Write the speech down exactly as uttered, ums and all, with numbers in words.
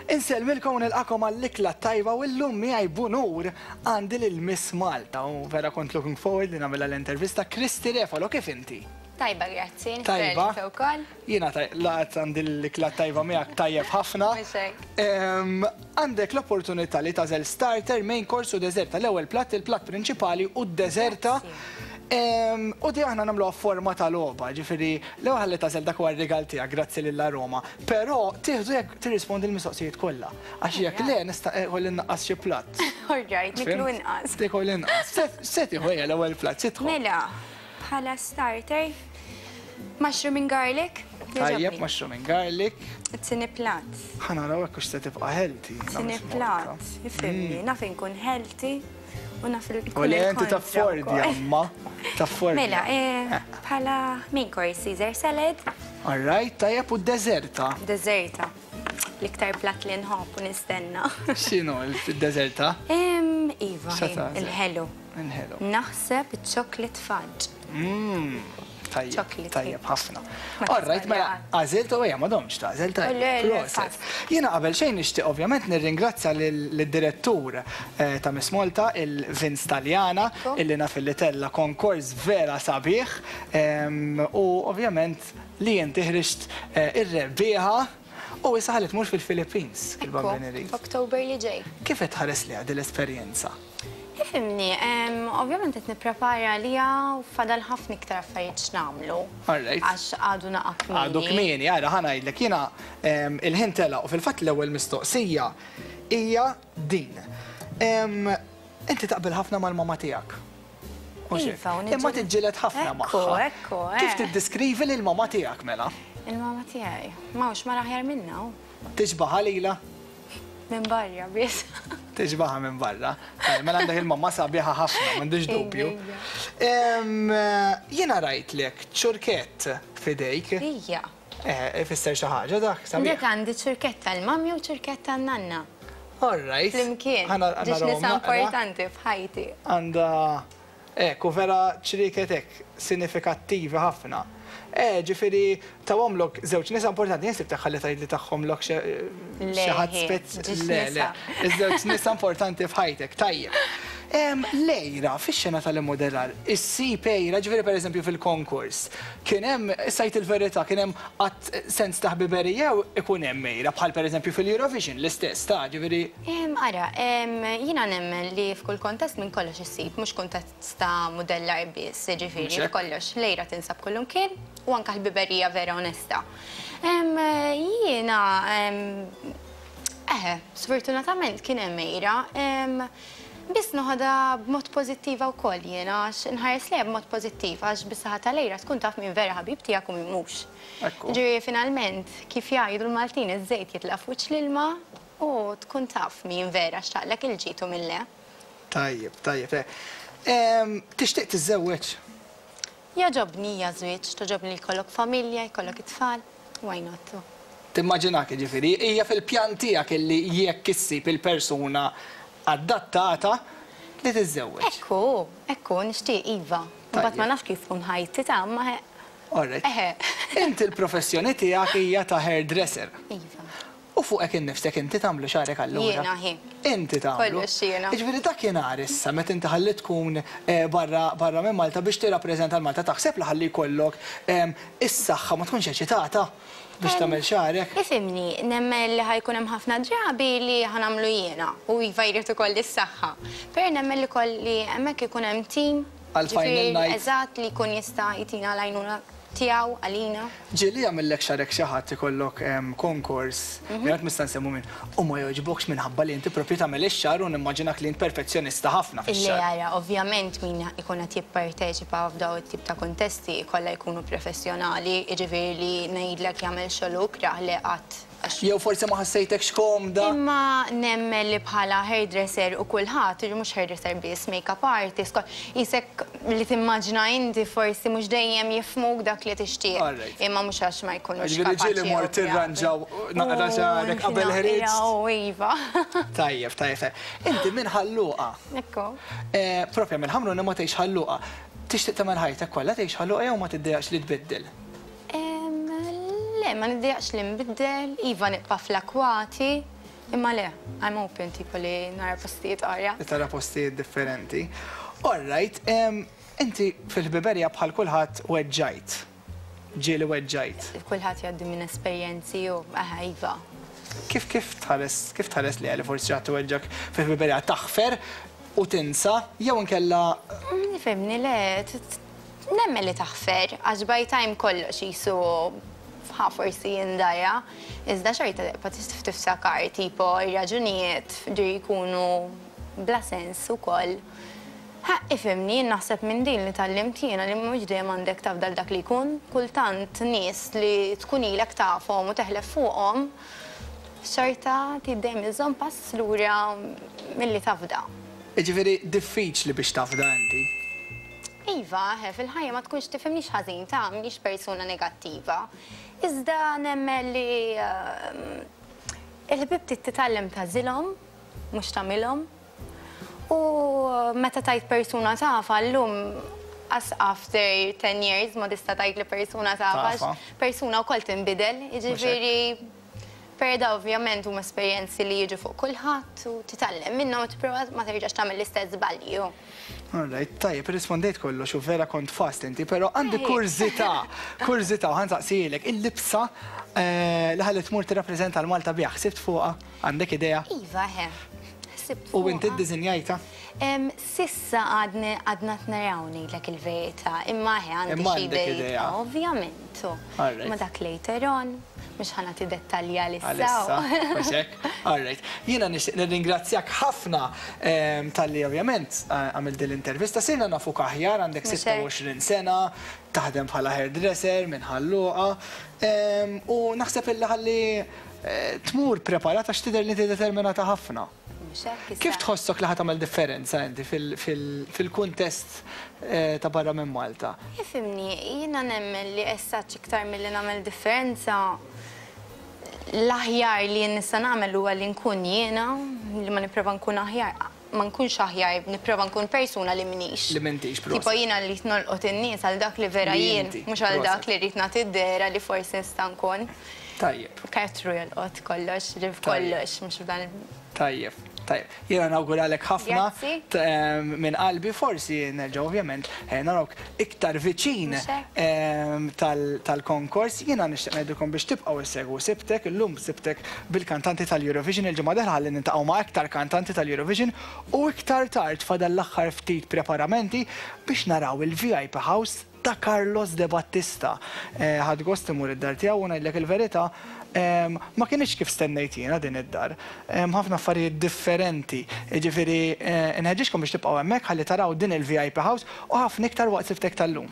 Insellmilkom u nilqagħkom għall-Ikla Tajba u llum miegħi b'unur għandi lil Miss Malta u vera kont looking forward li nagħmilha l-intervista, Kristy Refalo, kif inti? Tajba, grazzi. Tajba. Wkoll. Jiena laqat għandi l-Ikla Tajba miegħek tajjeb ħafna. Mhux hekk. Em, Għandek l-opportunità li tagħżel starter, main course u deżerta, l-ewwel platt, il-platt prinċipali u d-deżerta. Em, U di aħna nagħmluha forma ta' logħba, ġifieri l-ewwel ħalli tagħżel, dak huwa r-rigal tiegħek, grazzi lil Roma. Però tieħdu jekk tirrispondi l-mistoqsijiet kollha. Għax jekk le nista' ikolli nnaqqas xi platt. All right, niklu inqas. Tikol inqas. Se- Se tieħu hija l-ewwel platt, se tieħu. Mela, bħala starter, mushroom and garlic. Tajjeb, Jogħġobni. Mushroom and garlic. It-tieni platt. Ħa naraw hekk hux se tibqa' healthy. It-tieni platt. Ifhimni, naf inkun healthy u naf il U li inti taffordi, amma. Taffordi. Mela, eh, bħala main course Caesar salad, All right, tajjeb, u d-deżerta. Deżerta. L-iktar platt li nħobb u nistenna. X'inhu il-deżerta? Em, Iva, X'se tagħżel? il-ħelu. Il-ħelu. Naħseb chocolate fudge. Mm, Tajjeb, Chocolate tajjeb cake. ħafna. Ma All right, mela, tisbalja. għażilt u ejja, m'għadhomx tagħżel, tajjeb. Le, le, Proset. fast. Jiena qabel xejn nixtieq ovvjament nirringrazzja lid-direttur eh, ta' Miss Malta, il-Vince Taljana, Ekku. illi naf illi tella konkors vera sabiħ em, u ovvjament li inti ħriġt eh, ir-rebbieħa u issa ħalli tmur fil-Philippines, il-Bambini Ekku, Reef. Oktober li ġej. Kif qed tħares li għadi l-esperjenza? Ifhimni, em, ovvjament qed nipprepara għaliha u fadal ħafna iktar affarijiet x'nagħmlu. All right. Għax għadu naqa kmieni. Għadu kmieni, għara, ħa ngħidlek, jiena em, il-ħin tela u fil-fatt l-ewwel mistoqsija hija din. Em, Inti taqbel ħafna mal-mama tiegħek. Mhux hekk? Iva, u Imma niġġieled- tiġġieled ħafna Ekku, magħha. ekku, Kif eh. tiddeskrivi lil mama tiegħek mela? Il-mama tiegħi. M'hawnx mara aħjar minna u Tixbaħha lila? Minn barra biss. Tixbaħha minn barra. Eh, Mela għandek il-mamma sabiħa ħafna, m'għandix dubju. Ejja. Em, Jiena rajtlek ċurkett f'idejk. Ija. Eh, Ifisser xi ħaġa dak, sabiħ. Dik għandi ċurketta l-mami u ċurketta n-nanna. All right. Flimkien. Ħana- Ġiex narawhom nisa naqra. importanti f'ħajti. Għanda, ekku, vera ċriket hekk, sinifikattivi ħafna. Eh, ġifieri, tawhomlok żewġ nisa importanti, jien sibtek ħalli tgħid li tagħhomlok xi Le, ħadd spez. Ġiex Le, le, nisa. iż-żewġ nisa importanti f'ħajtek, tajjeb. Em, Lejra, fix-xena tal-immodellar, issib għira, ġifieri per eżempju fil-konkors, kien hemm, sajt il-verità, kien hemm qatt sens ta' ħbiberija jew ikun hemm għira, bħal per eżempju fil-Eurovision, l-istess, ta' ġifieri, Em, Ara, em, jiena nemmen li f'kull kontest minn kollox issib, mhux kontest ta' modellar biss, ġifieri Mhux hekk? f'kollox l-għira tinsab kullimkien u anka l-ħbiberija vera onesta. Em, Jiena, em, eħe, sfortunatament kien hemm għira, em, biss noħodha b'mod pożittiva wkoll jiena, għax nħares lejha b'mod pożittiv, għax bis-saħħa tal-għira tkun taf min vera ħabib tiegħek u min mhux. Ekku. Ġifieri finalment, kif jgħidu l-Maltin, iż-żejt jitlaq f'wiċċ l-ilma u tkun taf min vera xtaqlek il-ġid u min le. Tajjeb, tajjeb. tajjeb. Em, Tixtieq tiżżewweġ? Jogħġobni żwieġ, togħġobni li jkollok familja, jkollok it-tfal, why not? Timmaġinak ġifieri, hija fil-pjan tiegħek illi jekk issib il-persuna adattata li tiżżewweġ. Ekku, ekku, nixtieq iva. Mbagħad ma nafx kif tkun ħajti ta' ma All right. Eħe. Inti l-professjoni tiegħek hija ta' hairdresser. Iva. U fuqek innifsek inti tagħmlu xagħrek allura? Jiena, hi. Inti tagħmlu. Kollox jiena. Jiġifieri dakinhar issa meta inti ħalli tkun eh, barra barra minn Malta biex tirrappreżenta l-Malta, taħseb li ħalli jkollok em, is-saħħa ma tkunx eċitata biex tagħmel xagħrek? Ifhimni, nemmen li ħa jkun hemm ħafna drabi li ħa nagħmlu jiena u iva jrid ukoll is-saħħa. Però nemmen li kolli hemmhekk ikun hemm team Għal final ġifieri, night. Eżatt, li jkun jista' jtina l-għajnuna tiegħu għalina. Ġieli jagħmellek xagħrek xi ħadd, ikollok em, konkors, mm -hmm. nista' nsemmu min, u ma jogħġbokx minħabba li inti propju tagħmel ix-xagħar u nimmaġinak li int perfezzjonista ħafna Illi fix-xagħar. Ara, ovvjament min ikun qed jipparteċipa f'daw it-tip ta' kontesti kollha jkunu professjonali, jiġifieri li ngħidlek jagħmel xogħol ikrah li qatt għax Jew forsi ma ħassejtekx komda. Imma nemmen li bħala hairdresser u kulħadd, ġi mhux hairdresser biss, make-up artist, kol- jisek li timmaġina inti forsi mhux dejjem jifhmuk dak li tixtieq. Alright. Imma mhux għax ma jkunux Ġifieri ġieli kapaċi mort jew tirranġaw naqra xagħrek qabel ħriġt. U iva. Tajjeb, tajjeb. tajjeb. Inti minn Ħal Luqa. Ekku. Eh, Propja minn Ħamrun imma tgħix Ħal Luqa. Tixtieq tagħmel ħajtek kollha tgħix Ħal Luqa jew ma tiddejjaqx li tbiddel? Em, Le, ma niddejjaqx li nbiddel, iva nibqa' fl-akwati, Imma le, I'm open tipo li nara postijiet oħra. Li tara postijiet differenti. All right, em, inti fil-ħbiberija bħal kulħadd weġġajt. Ġieli weġġajt. Kulħadd jgħaddi minn esperjenzi u aha, iva. Kif kif tħares, kif tħares li għali forsi ħadd weġġak fil-ħbiberija, taħfer u tinsa, jew inkella? Nifhimni, le, t- t- nemmen li taħfer, għax by time kollox jisu ħa forsi jindaja, iżda xorta tibqa' tiftakar tipo ir-raġunijiet ġiri jkunu bla sens ukoll. Ha, ifhimni, jien naħseb minn din li tgħallimt jiena li mhux dejjem għandek tafdal dak li jkun, kultant nies li tkun ilek tafhom u teħlef fuqhom, xorta tidejjem iżżomm pass lura milli tafda. Ġifieri diffiċli biex tafda inti. Iva, he, fil-ħajja ma tkunx tifhimnix ħażin ta' mniex persuna negattiva. Iżda nemmen li ehm, il-ħbib trid titgħallem tagħżilhom, mhux tagħmilhom. U meta tajt persuna tafa llum as after ten years ma tista' tajt li persuna tafa, Tafa. persuna wkoll tinbidel, jiġifieri perda ovvjament huma esperjenzi li jiġu fuq kulħadd u titgħallem minnhom u tipprova ma terġax tagħmel l-istess żbalji. All right, tajjeb, rispondejt kollox u vera kont fast inti, pero għandi kurżità, kurżità, u ħa nsaqsilek, il-libsa eh, li ħalli tmur tirrappreżenta l-Malta biha, ħsibt fuqha, għandek idea? Iva, he. Ħsibt U inti fuqha. ddisinjajta? Em, S'issa għadni għadna t-naraw ngħidlek il-verità, imma he għandi Imma xi għandek idejt, idea. ovvjament. u. All right. Ma dak later on, mhux ħa nagħti dettalji għalissa. Għalissa, mhux hekk? All right. Jiena nixtieq nirringrazzjak ħafna em, talli ovvjament eh, għamilt din l-intervista. Sirna nafuk aħjar, għandek Mhux hekk. sitta u għoxrin sena, taħdem bħala hairdresser minn Ħal Luqa. Em, U naħseb illi ħalli eh, tmur preparata għax tidher li inti determinata ħafna. Mhux hekk issa. Kif tħossok li ħa tagħmel differenza inti fil- fil- fil-kuntest eh, ta' barra minn Malta? Ifhimni, jiena nemmen li issa iktar milli nagħmel differenza, l-aħjar li jien nista' nagħmel huwa li nkun jiena, li ma nipprova nkun aħjar, ma nkunx aħjar, nipprova nkun persuna li minix. Li m'intix, proset. Tipo jiena li nolqot in-nies għal dak li vera Li jien, inti, mhux għal dak proset. li rrid nagħti d-dehra li forsi nista' nkun. Tajjeb. Karattru jolqot kollox, ġif Tajjeb. kollox, mhux f'dan il- Tajjeb, tajjeb. Jiena nawguralek ħafna Grazzi. t- em, minn qalbi, forsi nerġa' ovvjament eh, narawk iktar viċin Mhux hekk? em, tal- tal-konkors. Jiena nixtieq ngħidilkom biex tibqgħu issegwu Sibtek, illum Sibtek bil-kantanti tal-Eurovision, il-ġimgħa dieħla ħalli niltaqgħu ma' iktar kantanti tal-Eurovision u iktar tard fadal l-aħħar ftit preparamenti biex naraw il-V I P House ta' Carlos De Battista. Eh, Ħadt gost immur id-dar tiegħu u ngħidlek il-verità, em, ma kienx kif stennejt jiena din id-dar. Em, Ħafna affarijiet differenti. Ġifieri eh, nħeġġiġkom biex tibqgħu hemmhekk ħalli taraw din il-V I P House u ħafna iktar waqt Sibtek tal-lum.